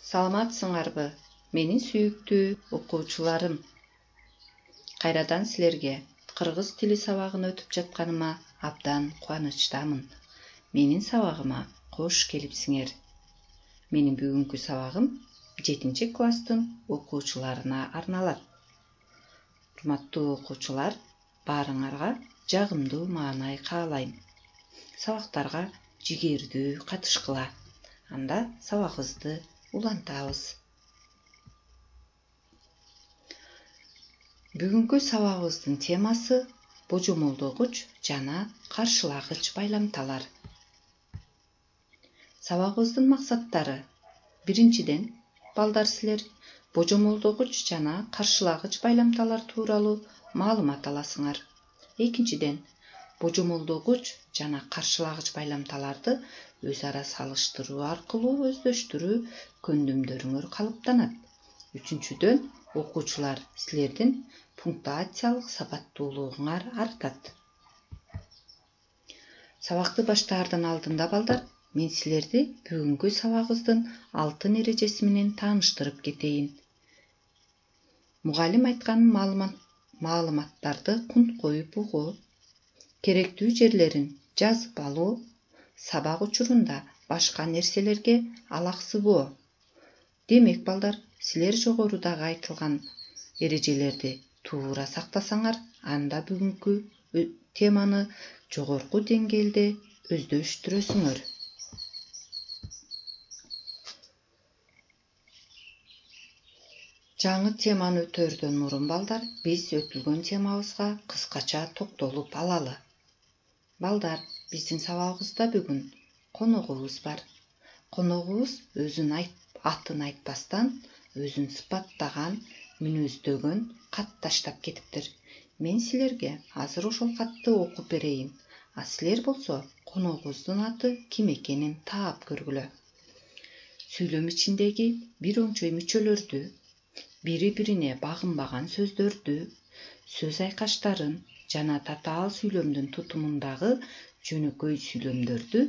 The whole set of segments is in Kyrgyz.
Саламатсыңарбы, менин сүйүктүү окуучуларым. Кайрадан силерге кыргыз тили сабагын өтүп жатканыма абдан кубанычтамын. Менин сабагыма кош келипсиңер. Менин бүгүнкү сабагым 7-класстын окуучуларына арналат. Урматтуу окуучулар, баарыңарга жагымдуу маанай каалайм. Сабактарга жигердүү катышкыла. Анда сабагыбызды улантабыз. Бүгүнкү сабагыбыздын темасы божомолдогуч жана каршылагыч байламталар. Сабагыбыздын максаттары: биринчиден, балдар силер божомолдогуч жана каршылагыч байламталар тууралуу маалымат аласыңар. Экинчиден, божомолдогуч жана каршылагыч байламталарды өз ара салыштыруу аркылуу өздөштүрүү көндүмдөрүңөр калыптанат. Үчүнчүдөн, окуучулар силердин пунктуациялык сапаттуулугуңар артат. Сабакты баштаардан алдында, балдар, мен силерди бүгүнкү сабагыбыздын алтын эрежеси менен тааныштырып кетейин. Мугалим айткан маалыматтарды кунт коюп угуу, керектүү жерлерин жазып алуу, сабак учурунда башка нерселерге алаксыбоо. Демек, балдар, силер жогорудагы айтылган эрежелерди туура сактасаңар, анда бүгүнкү теманы жогорку деңгээлде өздөштүрөсүңөр. Жаңы теманы өтөөрдөн мурун, балдар, биз өтүлгөн темабызга кыскача токтолуп алалы. Балдар, биздин сабагыбызда бүгүн коногубуз бар. Коногубуз өзүн атын айтпастан, өзүн сыпаттаган, мүнөздөгөн кат таштап кетиптир. Мен силерге азыр ошол катты окуп берейин, а силер болсо коногубуздун аты ким экенин таап көргүлө. Сүйлөм ичиндеги бир оңчой мүчөлөрдү, бири-бирине багынбаган сөздөрдү, сөз айкаштарын жана татаал сүйлөмдүн тутумундагы жөнөкөй сүйлөмдөрдү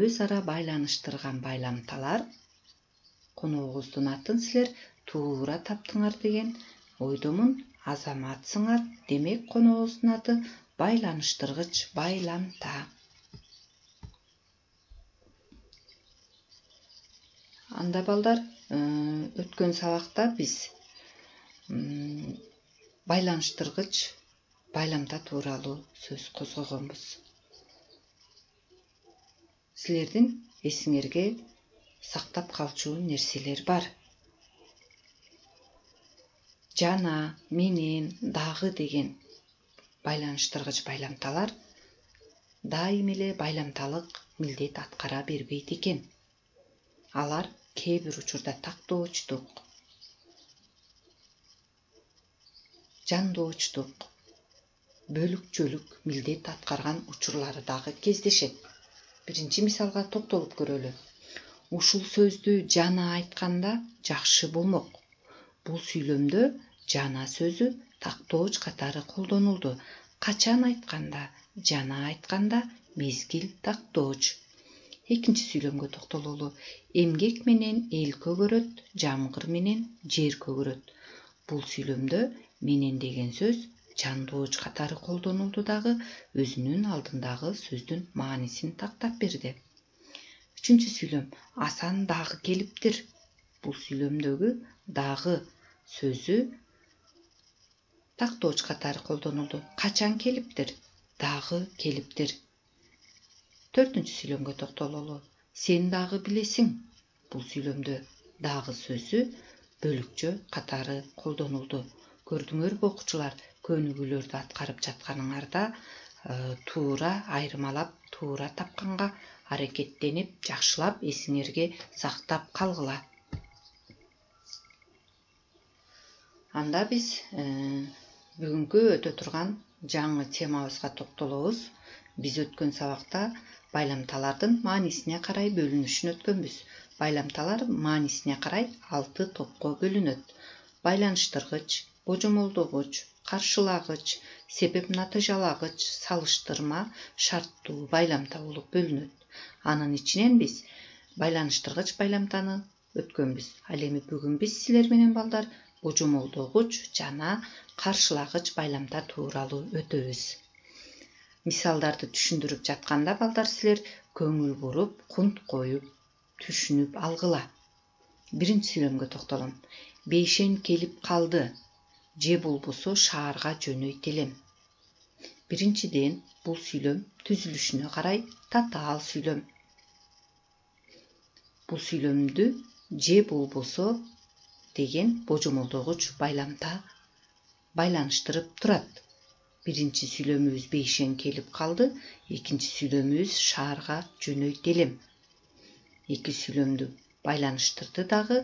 өз ара байланыштырган байламталар. Коногубуздун атын силер туура таптыңар деген ойдомун. Азаматсыңар, демек коногубуздун аты байланыштыргыч байламта. Анда, балдар, өткөн сабакта биз байланыштыргыч байламта тууралуу сөз козгогонбуз. Силердин эсиңерге сактап калчу нерселер бар. Жана, менен, дагы деген байланыштыргыч байламталар дайым эле байламталык милдет аткара бербейт экен. Алар кээ бир учурда тактоочтук, жандоочтук, бөлүкчөлүк милдет аткарган учурлары дагы кездешет. Биринчи мисалга токтолуп көрөлү. Ушул сөздү жана айтканда жакшы болмок. Бул сүйлөмдө жана сөзү тактооч катары колдонулду. Качан айтканда, жана айтканда мезгил тактооч. Экинчи сүйлөмгө токтололу. Эмгек менен эл көгөрөт, жамгыр менен жер көгөрөт. Бул сүйлөмдө менен деген сөз жандооч катары колдонулду дагы өзүнүн алдындагы сөздүн маанисин тактап берди. Үчүнчү сүйлөм. Асан дагы келиптир. Бул сүйлөмдөгү дагы сөзү тактооч катары колдонулду. Качан келиптир? Дагы келиптир. Төртүнчү сүйлөмгө токтололу. Сен дагы билесиң. Бул сүйлөмдө дагы сөзү бөлүкчө катары колдонулду. Көрдүңөрбү, окуучулар, көнүгүүлөрдү аткарып жатканыңарда туура айырмалап, туура тапканга аракеттенип, жакшылап эсиңерге сактап калгыла. Анда биз бүгүнкү өтө турган жаңы темабызга токтолобуз. Биз өткөн сабакта байламталардын маанисине карай бөлүнүшүн өткөнбүз. Байламталар маанисине карай 6 топко бөлүнөт. Байланыштыргыч, божомолдогуч, каршылагыч, себеп-натыйжалагыч, салыштырма, шарттуу байламта болуп бөлүнөт. Анын ичинен биз байланыштыргыч байламтаны өткөнбүз. Ал эми бүгүн биз силер менен балдар божомолдогуч жана каршылагыч байламдар тууралуу өтөбүз. Мисалдарды түшүндүрүп жатканда балдар силер көңүл буруп, кунт коюп, түшүнүп алгыла. Биринчи сүйлөмгө токтолом. Бейшен келип калды. Же болбосо шаарга жөнөйт элем. Биринчиден, бул сүйлөм түзүлүшүнө карай татаал сүйлөм. Бул сүйлөмдү же болбосо деген божомолдогуч байламта байланыштырып турат. Биринчи сүйлөмүбүз бейшен келип калды, экинчи сүйлөмүбүз шаарга жөнөйт элем. Эки сүйлөмдү байланыштырды дагы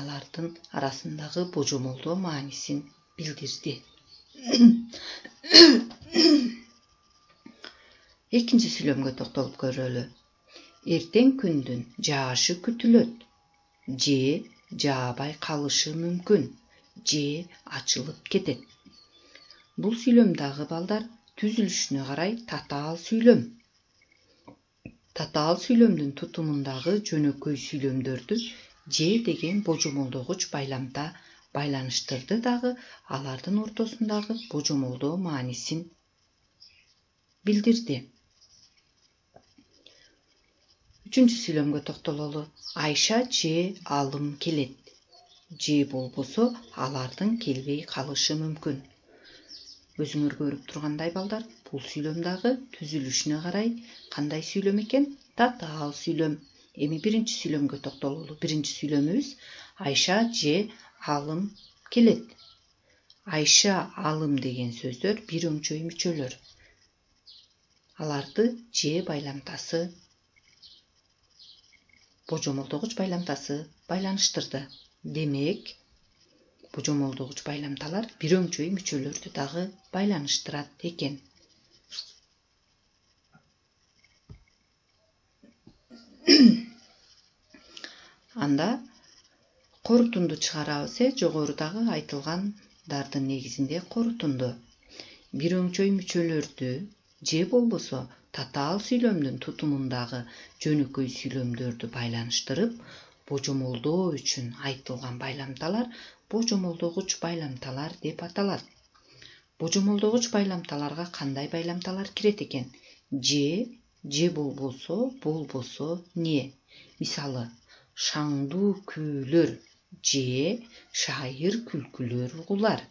алардын арасындагы божомолдоо маанисин билдирди. Экинчи сүйлөмгө токтолуп көрөлү. Эртең күндүн жаашы күтүлөт. Же жаабай калышы мүмкүн. Же ачылып кетет. Бул сүйлөм дагы балдар түзүлүшүнө карай татаал сүйлөм. Татаал сүйлөмдүн тутумундагы жөнөкөй сүйлөмдөрдү же деген божомолдогуч байламта байланыштырды дагы алардын ортосундагы божомолдоо маанисин билдирди. Үчүнчү сүйлөмгө токтололу. Айша же алым келет. Же болбосо алардын келбей калышы мүмкүн. Өзүңөр көрүп тургандай балдар, бул сүйлөм дагы түзүлүшүнө карай кандай сүйлөм экен? Татаал сүйлөм. Эми биринчи сүйлөмгө токтололу. Биринчи сүйлөмүбүз Айша же алым келет. Айша, алым деген сөздөр бир өңчөй мүчөлөр. Аларды же байламтасы, божомолдогуч байламтасы байланыштырды. Демек, божомолдогуч байламталар бир өңчөй мүчөлөрдү дагы байланыштырат экен. Анда корутунду чыгарабыз. Жогорудагы айтылгандардын негизинде корутунду. Бир өңчөй мүчөлөрдү же болбосо татаал сүйлөмдүн тутумундагы жөнөкөй сүйлөмдөрдү байланыштырып, божомолдоо үчүн айтылган байламталар божомолдогуч байламталар деп аталат. Божомолдогуч байламталарга кандай байламталар кирет экен? Же болбосо, не. Мисалы, шаңдуу күүлөр же шайыр күлкүлөр угулар.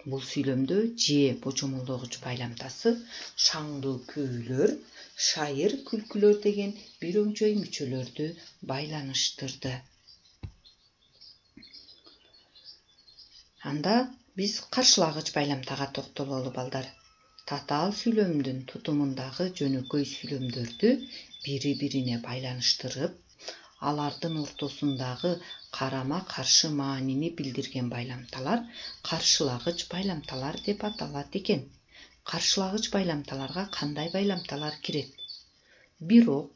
Бул сүйлөмдө же божомолдогуч байламтасы шаңдуу күүлөр, шайыр күлкүлөр деген бир өңчөй мүчөлөрдү байланыштырды. Анда биз каршылагыч байламтага токтололу балдар. Татаал сүйлөмдүн тутумундагы жөнөкөй сүйлөмдөрдү бири-бирине байланыштырып, алардын ортосундагы карама-каршы маанини билдирген байламталар каршылагыч байламталар деп аталат экен. Каршылагыч байламталарга кандай байламталар кирет? Бирок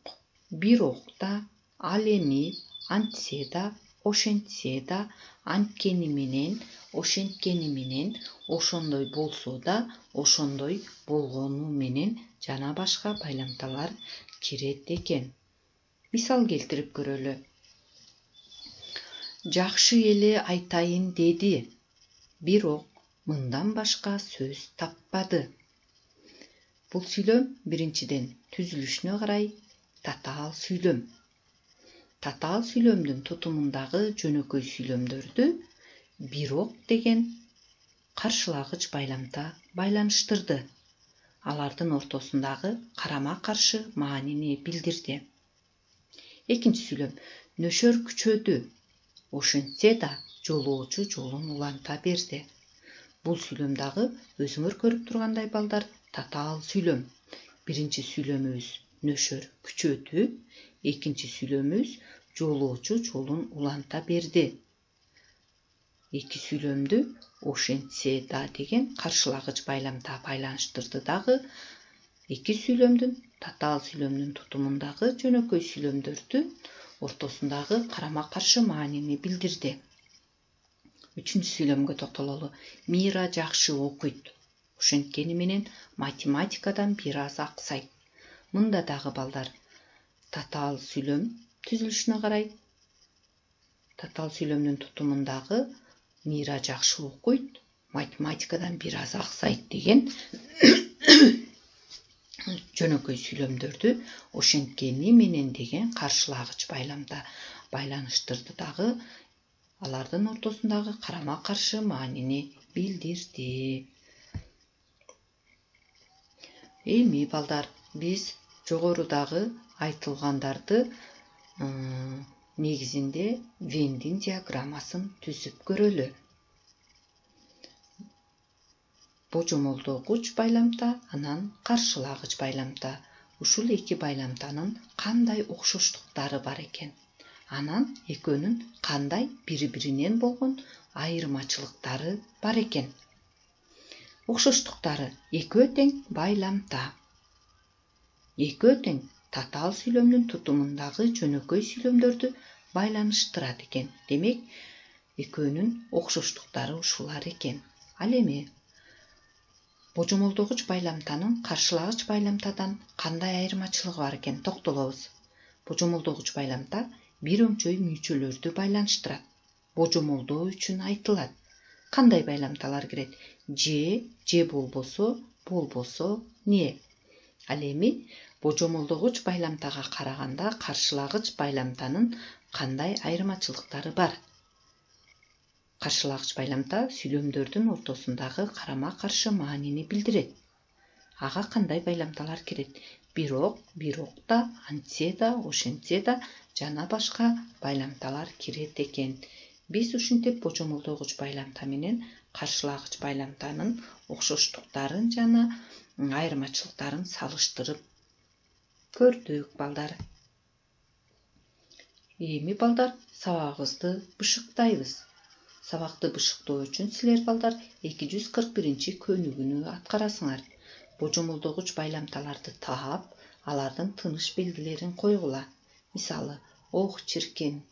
да, ал эми, антсе да, ошентсе да, анткени менен, ошенткени менен, ошондой болсо да, ошондой болгону менен жана башка байламталар кирет экен. Мисал келтирип көрөлү. Жакшы эле айтайын деди, бирок мындан башка сөз таппады. Бул сүйлөм биринчиден түзүлүшүнө карай татаал сүйлөм. Татаал сүйлөмдүн тутумундагы жөнөкөй сүйлөмдөрдү бирок деген каршылагыч байламта байланыштырды. Алардын ортосундагы карама-каршы маанини билдирди. Экинчи сүйлөм. Нөшөр күчөдү. Ошентсе да жолоочу жолун уланта берди. Бул сүйлөм дагы өзүңөр көрүп тургандай балдар татаал сүйлөм. Биринчи сүйлөмүбүз нөшөр күчөдү, экинчи сүйлөмүбүз жолоочу жолун уланта берди. Эки сүйлөмдү ошентсе да деген каршылагыч байламта байланыштырды дагы эки сүйлөмдүн, татаал сүйлөмдүн тутумундагы жөнөкөй сүйлөмдөрдүн ортосундагы карама-каршы маанини билдирди. Үчүнчү сүйлөмгө токтололу. Мира жакшы окуйт. Ошенткени менен математикадан бир аз аксайт. Мында дагы балдар татаал сүйлөм түзүлүшүнө карай Татаал сүйлөмдүн тутумундагы Мира жакшы окуйт, математикадан бир аз аксайт деген жөнөкөй сүйлөмдөрдү ошенткени менен деген каршылагыч байламда байланыштырды дагы алардын ортосундагы карама каршы маанини билдирди. Эми балдар, биз жогорудагы айтылгандарды негизинде Вендин диаграммасын түзүп көрөлү. Божомолдогуч байламта, анан каршылагыч байламта. Ушул эки байламтанын кандай окшоштуктары бар экен? Анан экөөнүн кандай бири-биринен болгон айырмачылыктары бар экен? Окшоштуктары: экөө тең байламта. Экөө тең татаал сүйлөмдүн тутумундагы жөнөкөй сүйлөмдөрдү байланыштырат экен. Демек, экөөнүн окшоштуктары ушулар экен. Ал эми божомолдогуч байламтанын каршылагыч байламтадан кандай айырмачылыгы бар экен токтолобуз. Божомолдогуч байламта бир өңчөй мүйчөлөрдү байланыштырат. Божомолдоо үчүн айтылат. Кандай байламталар кирет? Же болбосо не? Ал эми божомолдогуч байламтага караганда каршылагыч байламтанын кандай айырмачылыктары бар? Каршылагыч байламта сүйлөмдөрдүн ортосундагы карама каршы маанини билдирет. Ага кандай байламталар кирет? Бирок да, антсе да, ошентсе да жана башка байламталар кирет экен. Биз ушинтип божомолдогуч байламта менен каршылагыч байламтанын окшоштуктарын жана айырмачылыктарын салыштырып көрдүк балдар. Эми балдар, сабагыбызды бышыктайбыз. Сабакты бышыктоо үчүн силер балдар 241 көнүгүүнү аткарасыңар. Божомолдогуч байламталарды таап, алардын тыныш белгилерин койгула. Мисалы: ох чиркен,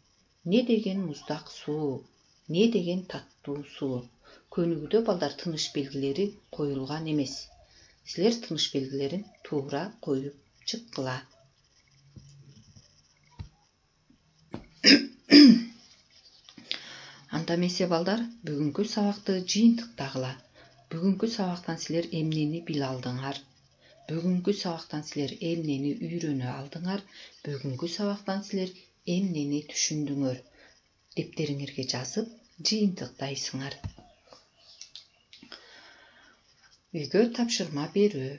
не деген муздак суу, не деген таттуу суу. Көнүгүүдө балдар тыныш белгилери коюлган эмес. Силер тыныш белгилерин туура коюп чыккыла. Анда эмесе балдар, бүгүнкү сабакты жыйынтыктагыла. Бүгүнкү сабактан силер эмнени биле алдыңар? Бүгүнкү сабактан силер эмнени үйрөнө алдыңар? Бүгүнкү сабактан силер эмнени түшүндүңөр? Дептериңерге жазып, жыйынтыктайсыңар. Үйгө тапшырма берүү.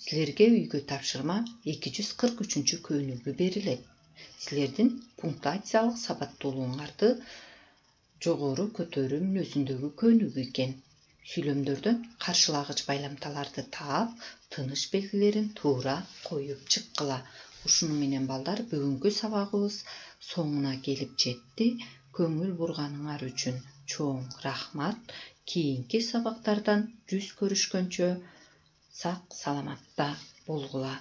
Силерге үйгө тапшырма 243 көнүгүү берилет. Силердин пунктуациялык сабаттуулугуңарды жогору көтөрүү мүнөзүндөгү көнүгүү экен. Сүйлөмдөрдөн каршылагыч байламталарды таап, тыныш белгилерин туура коюп чыккыла. Ушуну менен балдар, бүгүнкү сабагыбыз соңуна келип жетти. Көңүл бурганыңар үчүн чоң рахмат. Кийинки сабактардан жүз көрүшкөнчө сак саламатта болгула.